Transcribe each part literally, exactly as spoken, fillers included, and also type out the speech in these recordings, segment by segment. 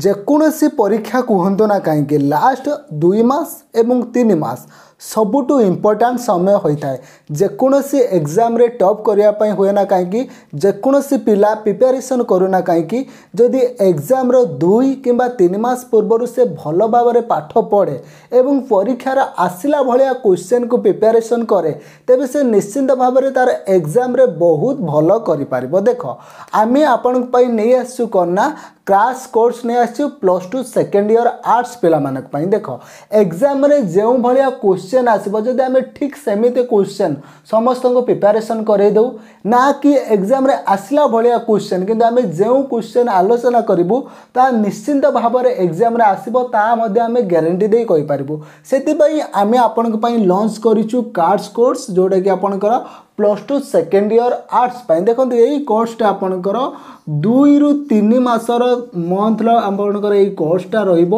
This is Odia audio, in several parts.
ଯେକୌଣସି ପରୀକ୍ଷା କୁହନ୍ତୁ ନା କାହିଁକି, ଲାଷ୍ଟ ଦୁଇ ମାସ ଏବଂ ତିନି ମାସ ସବୁଠୁ ଇମ୍ପୋର୍ଟାଣ୍ଟ ସମୟ ହୋଇଥାଏ। ଯେକୌଣସି ଏକ୍ଜାମ୍ରେ ଟପ୍ କରିବା ପାଇଁ ହୁଏ ନା କାହିଁକି, ଯେକୌଣସି ପିଲା ପ୍ରିପାରେସନ୍ କରୁନା କାହିଁକି, ଯଦି ଏକ୍ଜାମ୍ର ଦୁଇ କିମ୍ବା ତିନି ମାସ ପୂର୍ବରୁ ସେ ଭଲ ଭାବରେ ପାଠ ପଢ଼େ ଏବଂ ପରୀକ୍ଷାର ଆସିଲା ଭଳିଆ କ୍ୱେଶ୍ଚନ୍କୁ ପ୍ରିପାରେସନ୍ କରେ, ତେବେ ସେ ନିଶ୍ଚିନ୍ତ ଭାବରେ ତା'ର ଏକ୍ଜାମ୍ରେ ବହୁତ ଭଲ କରିପାରିବ। ଦେଖ, ଆମେ ଆପଣଙ୍କ ପାଇଁ ନେଇ ଆସିଛୁ କ'ଣ ନା କ୍ରାସ୍ କୋର୍ସ ନେଇ ଆସିଛୁ plus two second year arts ପିଲାମାନଙ୍କ ପାଇଁ। ଦେଖ, ଏକ୍ଜାମ୍ରେ ଯେଉଁ ଭଳିଆ କ୍ୱେଶ୍ଚନ୍ ଆସିବ, ଯଦି ଆମେ ଠିକ୍ ସେମିତି କ୍ୱେଶ୍ଚନ୍ ସମସ୍ତଙ୍କୁ ପ୍ରିପାରେସନ୍ କରେଇ ଦେଉ, ନା କି ଏକ୍ଜାମ୍ରେ ଆସିଲା ଭଳିଆ କ୍ୱେଶ୍ଚନ୍, କିନ୍ତୁ ଆମେ ଯେଉଁ କ୍ୱେଶ୍ଚନ୍ ଆଲୋଚନା କରିବୁ ତାହା ନିଶ୍ଚିନ୍ତ ଭାବରେ ଏକ୍ଜାମ୍ରେ ଆସିବ, ତାହା ମଧ୍ୟ ଆମେ ଗ୍ୟାରେଣ୍ଟି ଦେଇ କହିପାରିବୁ। ସେଥିପାଇଁ ଆମେ ଆପଣଙ୍କ ପାଇଁ ଲଞ୍ଚ କରିଛୁ କ୍ରାସ୍ କୋର୍ସ, ଯେଉଁଟାକି ଆପଣଙ୍କର plus two second year arts ପାଇଁ। ଦେଖନ୍ତୁ, ଏଇ କୋର୍ସଟା ଆପଣଙ୍କର ଦୁଇରୁ ତିନି ମାସର ମନ୍ଥର ଆପଣଙ୍କର ଏଇ କୋର୍ସଟା ରହିବ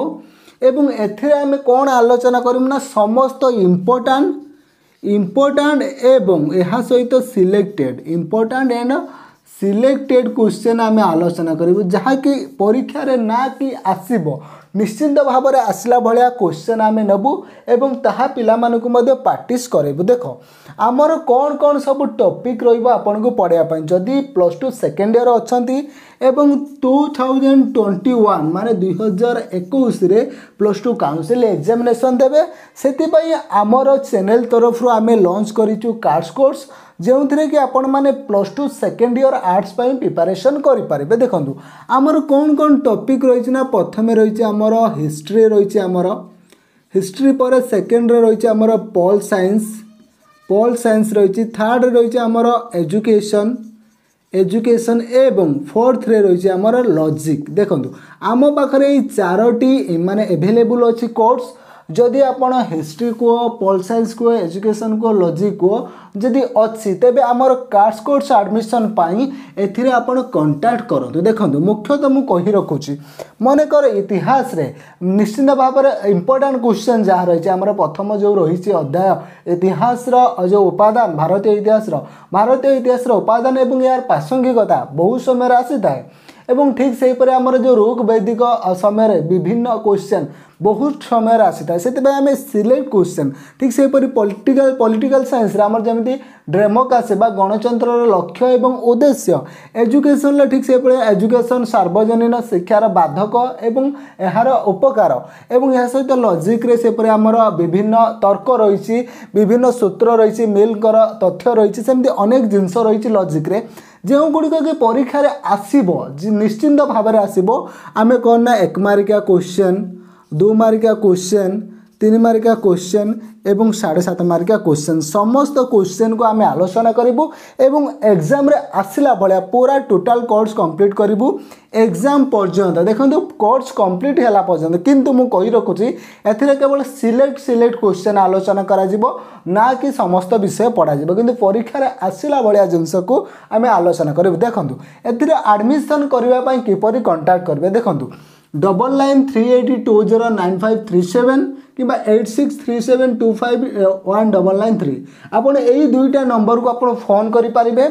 ଏବଂ ଏଥିରେ ଆମେ କ'ଣ ଆଲୋଚନା କରିବୁ ନା ସମସ୍ତ ଇମ୍ପୋର୍ଟାଣ୍ଟ ଇମ୍ପୋର୍ଟାଣ୍ଟ ଏବଂ ଏହା ସହିତ selected, important and selected question ଆମେ ଆଲୋଚନା କରିବୁ, ଯାହାକି ପରୀକ୍ଷାରେ ନା କି ଆସିବ, ନିଶ୍ଚିନ୍ତ ଭାବରେ ଆସିଲା ଭଳିଆ କ୍ୱେଶ୍ଚନ୍ ଆମେ ନେବୁ ଏବଂ ତାହା ପିଲାମାନଙ୍କୁ ମଧ୍ୟ ପ୍ରାକ୍ଟିସ୍ କରାଇବୁ। ଦେଖ, ଆମର କ'ଣ କ'ଣ ସବୁ ଟପିକ୍ ରହିବ ଆପଣଙ୍କୁ ପଢ଼ାଇବା ପାଇଁ। ଯଦି ପ୍ଲସ୍ ଟୁ ସେକେଣ୍ଡ ଇୟର୍ ଅଛନ୍ତି ଏବଂ ଟୁ ଥାଉଜେଣ୍ଡ ଟ୍ୱେଣ୍ଟି ୱାନ୍ ମାନେ ଦୁଇ ହଜାର ଏକୋଇଶରେ ପ୍ଲସ୍ ଟୁ କାଉନସିଲ୍ ଏକ୍ଜାମିନେସନ୍ ଦେବେ, ସେଥିପାଇଁ ଆମର ଚ୍ୟାନେଲ୍ ତରଫରୁ ଆମେ ଲଞ୍ଚ କରିଛୁ କ୍ରାସ୍ କୋର୍ସ, ଯେଉଁଥିରେ କି ଆପଣମାନେ plus two second year arts ପାଇଁ ପ୍ରିପାରେସନ୍ କରିପାରିବେ। ଦେଖନ୍ତୁ, ଆମର କ'ଣ କ'ଣ ଟପିକ୍ ରହିଛି ନା ପ୍ରଥମେ ରହିଛି ଆମର ହିଷ୍ଟ୍ରି ରହିଛି ଆମର। ହିଷ୍ଟ୍ରି ପରେ ସେକେଣ୍ଡରେ ରହିଛି ଆମର ପଲ୍ ସାଇନ୍ସ, ପଲ୍ ସାଇନ୍ସ ରହିଛି। ଥାର୍ଡ଼ରେ ରହିଛି ଆମର ଏଜୁକେସନ୍, ଏଜୁକେସନ୍ ଏବଂ ଫୋର୍ଥରେ ରହିଛି ଆମର ଲଜିକ୍। ଦେଖନ୍ତୁ, ଆମ ପାଖରେ ଏଇ ଚାରୋଟି ମାନେ ଏଭେଲେବୁଲ୍ ଅଛି କୋର୍ସ। ଯଦି ଆପଣ ହିଷ୍ଟ୍ରି କୁହ, ପଲ୍ ସାଇନ୍ସ କୁହ, ଏଜୁକେସନ୍ କୁହ, ଲଜିକ୍ କୁହ, ଯଦି ଅଛି, ତେବେ ଆମର କ୍ରାସ୍ କୋର୍ସ ଆଡ଼ମିସନ୍ ପାଇଁ ଏଥିରେ ଆପଣ କଣ୍ଟାକ୍ଟ କରନ୍ତୁ। ଦେଖନ୍ତୁ, ମୁଖ୍ୟତଃ ମୁଁ କହି ରଖୁଛି, ମନେକର ଇତିହାସରେ ନିଶ୍ଚିନ୍ତ ଭାବରେ ଇମ୍ପୋର୍ଟାଣ୍ଟ କ୍ୱେଶ୍ଚନ୍ ଯାହା ରହିଛି, ଆମର ପ୍ରଥମ ଯେଉଁ ରହିଛି ଅଧ୍ୟାୟ ଇତିହାସର ଯେଉଁ ଉପାଦାନ, ଭାରତୀୟ ଇତିହାସର ଭାରତୀୟ ଇତିହାସର ଉପାଦାନ ଏବଂ ଏହାର ପ୍ରାସଙ୍ଗିକତା ବହୁ ସମୟରେ ଆସିଥାଏ ଏବଂ ଠିକ୍ ସେହିପରି ଆମର ଯେଉଁ ଋକ୍ ବୈଦିକ ସମୟରେ ବିଭିନ୍ନ କ୍ୱେଶ୍ଚନ୍ ବହୁତ ସମୟରେ ଆସିଥାଏ। ସେଥିପାଇଁ ଆମେ ସିଲେକ୍ଟ କ୍ୱେଶ୍ଚନ୍, ଠିକ୍ ସେହିପରି ପଲିଟିକାଲ ପଲିଟିକାଲ ସାଇନ୍ସରେ ଆମର ଯେମିତି ଡେମୋକ୍ରାସି ବା ଗଣତନ୍ତ୍ରର ଲକ୍ଷ୍ୟ ଏବଂ ଉଦ୍ଦେଶ୍ୟ, ଏଜୁକେସନରେ ଠିକ୍ ସେହିଭଳି ଏଜୁକେସନ୍ ସାର୍ବଜନୀନ ଶିକ୍ଷାର ବାଧକ ଏବଂ ଏହାର ଉପକାର ଏବଂ ଏହା ସହିତ ଲଜିକ୍ରେ ସେପରି ଆମର ବିଭିନ୍ନ ତର୍କ ରହିଛି, ବିଭିନ୍ନ ସୂତ୍ର ରହିଛି, ମିଲ୍ଙ୍କର ତଥ୍ୟ ରହିଛି, ସେମିତି ଅନେକ ଜିନିଷ ରହିଛି ଲଜିକ୍ରେ, ଯେଉଁଗୁଡ଼ିକ କି ପରୀକ୍ଷାରେ ଆସିବ, ନିଶ୍ଚିନ୍ତ ଭାବରେ ଆସିବ। ଆମେ କ'ଣ ନା ଏକ ମାର୍କିଆ କ୍ୱେଶ୍ଚନ୍, ଦୁଇ ମାର୍କିଆ କ୍ୱେଶ୍ଚନ୍, ତିନି ମାର୍କିଆ କ୍ୱେଶ୍ଚନ୍ ଏବଂ ସାଢ଼େ ସାତ ମାର୍କିଆ କ୍ୱେଶ୍ଚନ୍, ସମସ୍ତ କ୍ୱେଶ୍ଚନ୍କୁ ଆମେ ଆଲୋଚନା କରିବୁ ଏବଂ ଏକ୍ଜାମ୍ରେ ଆସିଲା ଭଳିଆ ପୁରା ଟୋଟାଲ୍ କୋର୍ସ କମ୍ପ୍ଲିଟ୍ କରିବୁ ଏକ୍ଜାମ୍ ପର୍ଯ୍ୟନ୍ତ। ଦେଖନ୍ତୁ, କୋର୍ସ କମ୍ପ୍ଲିଟ୍ ହେଲା ପର୍ଯ୍ୟନ୍ତ। କିନ୍ତୁ ମୁଁ କହି ରଖୁଛି, ଏଥିରେ କେବଳ ସିଲେକ୍ଟ ସିଲେକ୍ଟ କ୍ୱେଶ୍ଚନ୍ ଆଲୋଚନା କରାଯିବ, ନା କି ସମସ୍ତ ବିଷୟ ପଢ଼ାଯିବ, କିନ୍ତୁ ପରୀକ୍ଷାରେ ଆସିଲା ଭଳିଆ ଜିନିଷକୁ ଆମେ ଆଲୋଚନା କରିବୁ। ଦେଖନ୍ତୁ, ଏଥିରେ ଆଡ଼ମିସନ୍ କରିବା ପାଇଁ କିପରି କଣ୍ଟାକ୍ଟ କରିବେ? ଦେଖନ୍ତୁ, double nine three eight two zero nine five three seven କିମ୍ବା eight six three seven two five one double nine three, ଆପଣ ଏଇ ଦୁଇଟା ନମ୍ବରକୁ ଆପଣ ଫୋନ୍ କରିପାରିବେ,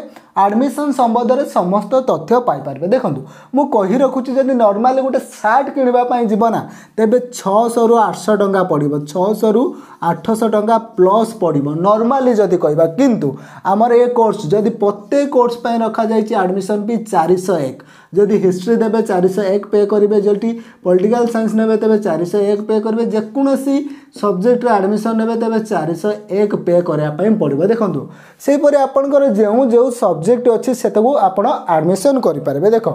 ଆଡ଼ମିସନ୍ ସମ୍ବନ୍ଧରେ ସମସ୍ତ ତଥ୍ୟ ପାଇପାରିବେ। ଦେଖନ୍ତୁ, ମୁଁ କହି ରଖୁଛି, ଯଦି ନର୍ମାଲି ଗୋଟେ ସାର୍ଟ କିଣିବା ପାଇଁ ଯିବ ନା, ତେବେ ଛଅଶହରୁ ଆଠଶହ ଟଙ୍କା ପଡ଼ିବ, ଛଅଶହରୁ ଆଠଶହ ଟଙ୍କା ପ୍ଲସ୍ ପଡ଼ିବ ନର୍ମାଲି ଯଦି କହିବା। କିନ୍ତୁ ଆମର ଏ କୋର୍ସ ଯଦି ପ୍ରତ୍ୟେକ କୋର୍ସ ପାଇଁ ରଖାଯାଇଛି ଆଡ଼ମିସନ୍ ଫି ଚାରିଶହ ଏକ। ଯଦି ହିଷ୍ଟ୍ରି ଦେବେ, ଚାରିଶହ ଏକ ପେ କରିବେ। ଯଦି ପଲିଟିକାଲ ସାଇନ୍ସ ନେବେ, ତେବେ ଚାରିଶହ ଏକ ପେ କରିବେ। ଯେକୌଣସି ସବଜେକ୍ଟରେ ଆଡ଼ମିସନ୍ ନେବେ, ତେବେ ଚାରିଶହ ଏକ ପେ କରିବା ପାଇଁ ପଡ଼ିବ। ଦେଖନ୍ତୁ, ସେହିପରି ଆପଣଙ୍କର ଯେଉଁ ଯେଉଁ ସବଜେକ୍ଟ ଅଛି, ସେଟାକୁ ଆପଣ ଆଡ଼ମିସନ୍ କରିପାରିବେ। ଦେଖ,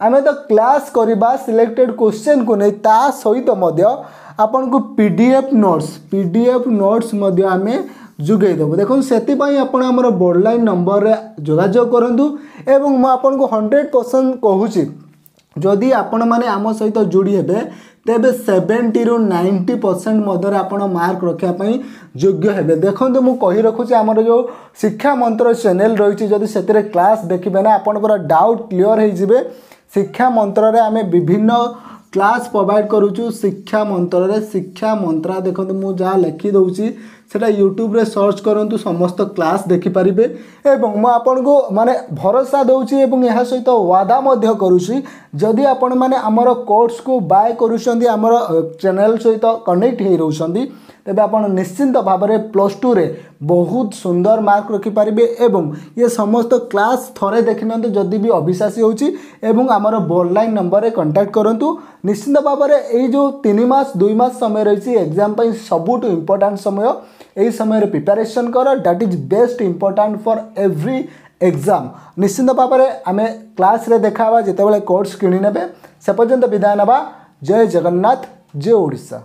ଆମେ ତ କ୍ଲାସ୍ କରିବା ସିଲେକ୍ଟେଡ଼ କ୍ୱେଶ୍ଚନ୍କୁ ନେଇ, ତା ସହିତ ମଧ୍ୟ ଆପଣଙ୍କୁ P D F notes P D F notes ମଧ୍ୟ ଆମେ ଯୋଗାଇ ଦେବୁ। ଦେଖନ୍ତୁ, ସେଥିପାଇଁ ଆପଣ ଆମର ବର୍ଡ଼ଲାଇନ୍ ନମ୍ବରରେ ଯୋଗାଯୋଗ କରନ୍ତୁ ଏବଂ ମୁଁ ଆପଣଙ୍କୁ ହଣ୍ଡ୍ରେଡ଼ ପରସେଣ୍ଟ କହୁଛି, ଯଦି ଆପଣମାନେ ଆମ ସହିତ ଯୋଡ଼ି ହେବେ, ତେବେ ସେଭେଣ୍ଟିରୁ ନାଇଣ୍ଟି ପରସେଣ୍ଟ ମଧ୍ୟରେ ଆପଣ ମାର୍କ ରଖିବା ପାଇଁ ଯୋଗ୍ୟ ହେବେ। ଦେଖନ୍ତୁ, ମୁଁ କହି ରଖୁଛି, ଆମର ଯେଉଁ ଶିକ୍ଷା ମନ୍ତ୍ର ଚ୍ୟାନେଲ୍ ରହିଛି, ଯଦି ସେଥିରେ କ୍ଲାସ୍ ଦେଖିବେ ନା, ଆପଣଙ୍କର ଡାଉଟ୍ କ୍ଲିଅର୍ ହେଇଯିବେ। ଶିକ୍ଷା ମନ୍ତ୍ରରେ ଆମେ ବିଭିନ୍ନ କ୍ଲାସ୍ ପ୍ରୋଭାଇଡ଼ କରୁଛୁ। ଶିକ୍ଷା ମନ୍ତ୍ରରେ, ଶିକ୍ଷା ମନ୍ତ୍ରା, ଦେଖନ୍ତୁ, ମୁଁ ଯାହା ଲେଖିଦେଉଛି, ସେଇଟା ୟୁଟ୍ୟୁବରେ ସର୍ଚ୍ଚ କରନ୍ତୁ, ସମସ୍ତ କ୍ଲାସ୍ ଦେଖିପାରିବେ। ଏବଂ ମୁଁ ଆପଣଙ୍କୁ ମାନେ ଭରସା ଦେଉଛି ଏବଂ ଏହା ସହିତ ୱାଦା ମଧ୍ୟ କରୁଛି, ଯଦି ଆପଣମାନେ ଆମର କୋର୍ସକୁ ବାଏ କରୁଛନ୍ତି, ଆମର ଚ୍ୟାନେଲ୍ ସହିତ କନେକ୍ଟ ହେଇ ରହୁଛନ୍ତି, ତେବେ ଆପଣ ନିଶ୍ଚିନ୍ତ ଭାବରେ ପ୍ଲସ୍ ଟୁରେ ବହୁତ ସୁନ୍ଦର ମାର୍କ ରଖିପାରିବେ। ଏବଂ ଇଏ ସମସ୍ତ କ୍ଲାସ୍ ଥରେ ଦେଖିନିଅନ୍ତୁ ଯଦି ବି ଅବିଶ୍ୱାସୀ ହେଉଛି, ଏବଂ ଆମର ବୋର୍ଡ଼ ନମ୍ବରରେ କଣ୍ଟାକ୍ଟ କରନ୍ତୁ। ନିଶ୍ଚିନ୍ତ ଭାବରେ ଏଇ ଯେଉଁ ତିନି ମାସ ଦୁଇ ମାସ ସମୟ ରହିଛି, ଏକ୍ଜାମ୍ ପାଇଁ ସବୁଠୁ ଇମ୍ପୋର୍ଟାଣ୍ଟ ସମୟ। ଏହି ସମୟରେ ପ୍ରିପାରେସନ୍ କର, that is best important for every exam. ନିଶ୍ଚିନ୍ତ ଭାବରେ ଆମେ କ୍ଲାସ୍ରେ ଦେଖା ହେବା ଯେତେବେଳେ କୋର୍ସ କିଣି ନେବେ। ସେ ପର୍ଯ୍ୟନ୍ତ ବିଦାୟ ନେବା। ଜୟ ଜଗନ୍ନାଥ, ଜୟ ଓଡ଼ିଶା।